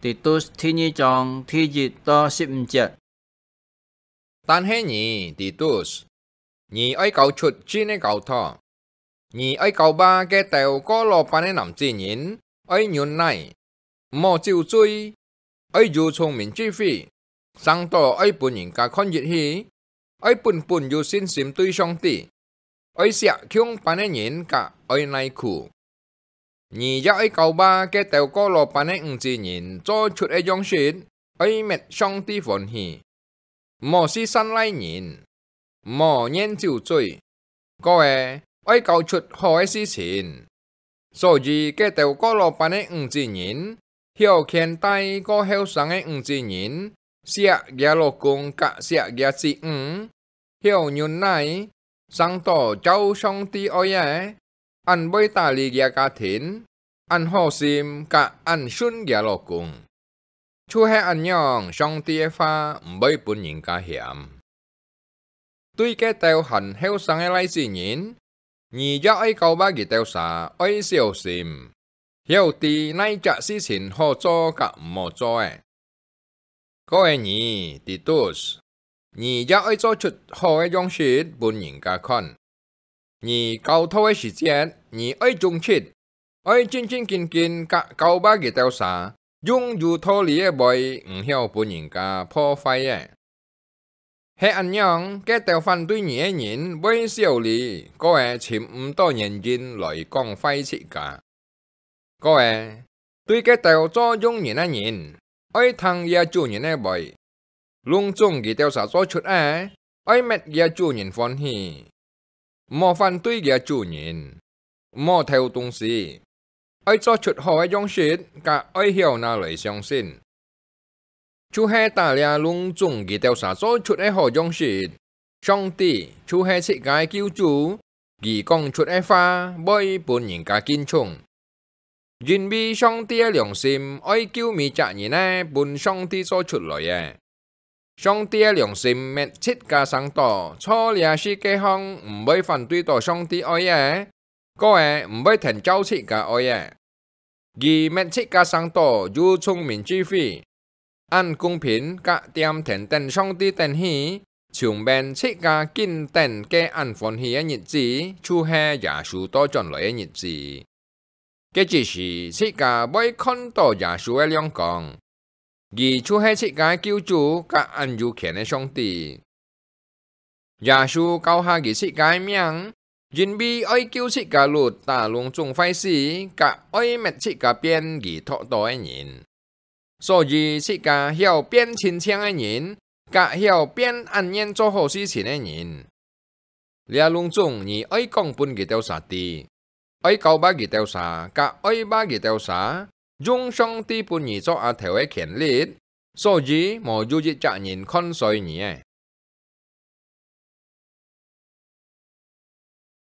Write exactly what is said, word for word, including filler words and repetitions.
Titus第二章第一到十五節。但係你，Titus，你愛交出真个交託。你愛教化該兜過老班个男子人，愛忍耐，毋好酒醉，愛有聰明智慧，生到愛分人家看入去，愛本本有信心對上帝，愛惜共班个人，甲愛耐苦。你也愛教化該兜過老班个女子人做出个樣式，愛搣上帝歡喜，毋好係散賴人，毋好願酒醉，過仔愛交出好个事情。所以該兜過老班个女子人，曉牽帶過後生个女子人，惜厥老公甲惜厥子女，曉忍耐，生到照上帝愛个，恁會打理厥家庭，恁好心甲恁順厥老公。就係恁樣，上帝个話毋會分人家嫌。對該兜還後生个倈子人，你也愛教化佢兜儕愛小心，曉知哪隻事情好做甲毋好做个。過仔你，Titus，你也愛做出好个樣式分人家看。你教導个時節，你愛忠直，愛正正經經甲教化佢兜儕，用有道理个話，毋曉分人家破壞个。係恁樣，該兜反對你个人會小利，過仔尋毋到原因來講壞自家。過仔，對該兜做用人个人，愛聽厥主人个話，攏總佢兜儕做出个，愛搣厥主人歡喜。毋好反對厥主人，毋好偷東西，愛做出好个樣式，甲愛曉拿來相信。就係打這攏總佢兜儕做出个好樣式，上帝就係自家个救主，佢講出个話會分人家敬重。因為上帝个良心愛救每隻人个分上帝做出來个。上帝个良心搣自家生到，做這世界項毋會反對到上帝愛个，過仔毋會跈照自家愛个。佢搣自家生到有聰明智慧，恁公平甲恬恬等上帝等去，像免自家緊等个恁歡喜个日子，就係耶穌倒轉來个日子。該隻時，自家會看到耶穌个亮光，佢就係自家个救主甲恁有權个上帝。耶穌交下佢自家个命，因為愛救自家脫離攏總壞事，甲愛搣自家變佢擇到个人。所以自家曉變親像个人，甲曉變恁願做好事情个人。這攏總你愛講分佢兜儕知，愛教化佢兜儕，甲愛話佢兜儕，用上帝分你做阿頭个權力，所以無有一隻人看衰你个。